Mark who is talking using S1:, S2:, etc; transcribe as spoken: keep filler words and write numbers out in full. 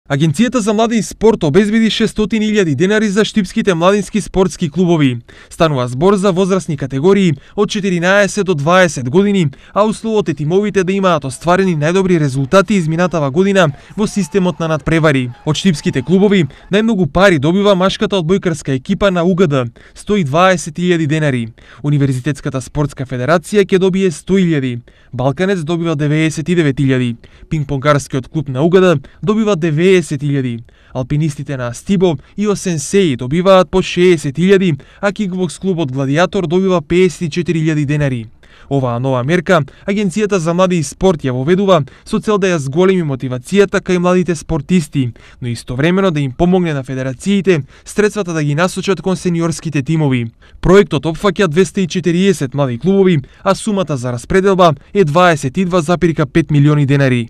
S1: Агенцијата за млади и спорт обезбеди шестстотини илјади денари за штипските младински спортски клубови. Станува збор за возрастни категории од четиринаесет до дваесет години, а условот е тимовите да имаат остварени најдобри резултати изминатава година во системот на надпревари. Од штипските клубови најмногу пари добива машката одбојкарска екипа на У Г Д – сто и дваесет илјади денари. Универзитетската спортска федерација ќе добие сто илјади. Балканец добива деветдесет и девет илјади. Пинг-понгарскиот клуб на У Г Д добива деветдесет илјади. Алпинистите на Астибо и Осенсеи добиваат по шеесет илјади, а кикбокс клубот Гладиатор добива пеесет и четири илјади денари. Оваа нова мерка Агенцијата за млади и спорт ја воведува со цел да ја зголеми мотивацијата кај младите спортисти, но истовремено да им помогне на федерациите средствата да ги насочат кон сениорските тимови. Проектот опфаќа двесте и четириесет млади клубови, а сумата за распределба е дваесет и два зарез пет милиони денари.